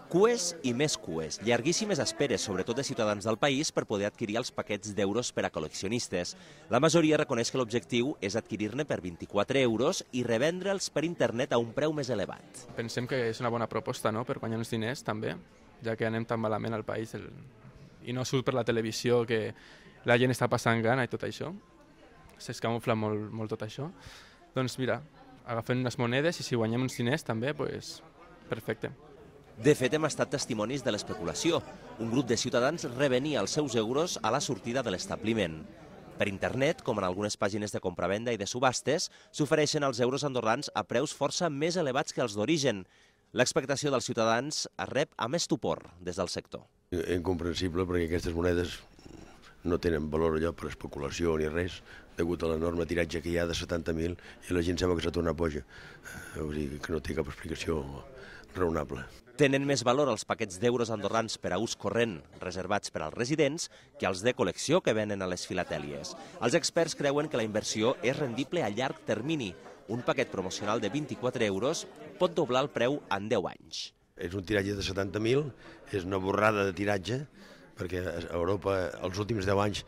Cues i més cues, llarguíssimes esperes, sobretot de ciutadans del país, per poder adquirir els paquets d'euros per a col·leccionistes. La majoria reconeix que l'objectiu és adquirir-ne per 24 euros i revendre'ls per internet a un preu més elevat. Pensem que és una bona proposta, no?, per guanyar uns diners també, ja que anem tan malament al país i no surt per la televisió que la gent està passant gana i tot això. S'escamufla molt tot això. Doncs mira, agafem unes monedes i si guanyem uns diners també, doncs perfecte. De fet, hem estat testimonis de l'especulació. Un grup de ciutadans revenia els seus euros a la sortida de l'establiment. Per internet, com en algunes pàgines de compravenda i de subhastes, s'ofereixen els euros andorrans a preus força més elevats que els d'origen. L'expectació dels ciutadans es rep amb estupor des del sector. Incomprensible, perquè aquestes monedes no tenen valor allò per especulació ni res, degut a l'enorme tiratge que hi ha de 70.000 i la gent sembla que s'ha tornat boja. Vull dir que no té cap explicació raonable. Tenen més valor els paquets d'euros andorrans per a ús corrent reservats per als residents que els de col·lecció que venen a les filatèlies. Els experts creuen que la inversió és rendible a llarg termini. Un paquet promocional de 24 euros pot doblar el preu en 10 anys. És un tiratge de 70.000, és una borrada de tiratge, perquè a Europa els últims 10 anys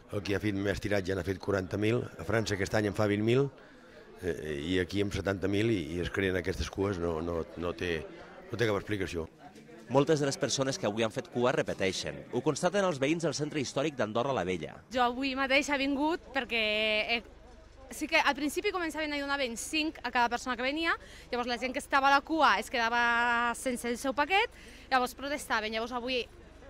el que ha fet més tiratge n'ha fet 40.000, a França aquest any en fa 20.000, i aquí amb 70.000 i es creen aquestes cues no té cap explicació. Moltes de les persones que avui han fet cua repeteixen. Ho constaten els veïns del centre històric d'Andorra la Vella. Jo avui mateix he vingut perquè sí que al principi començaven a donar-ne 5 a cada persona que venia, llavors la gent que estava a la cua es quedava sense el seu paquet, llavors protestaven, llavors avui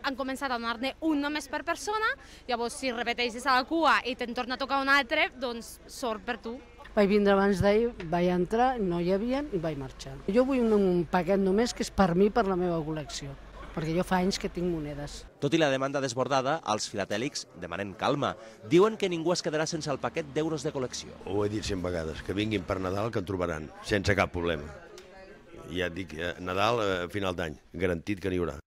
han començat a donar-ne un només per persona, llavors si repeteixes a la cua i te'n torna a tocar un altre, doncs sort per tu. Vaig vindre abans d'ahir, vaig entrar, no hi havia i vaig marxar. Jo vull un paquet només que és per mi, per la meva col·lecció, perquè jo fa anys que tinc monedes. Tot i la demanda desbordada, els filatèlics demanen calma. Diuen que ningú es quedarà sense el paquet d'euros de col·lecció. Ho he dit 100 vegades, que vinguin per Nadal que en trobaran, sense cap problema. Ja et dic, Nadal a final d'any, garantit que n'hi haurà.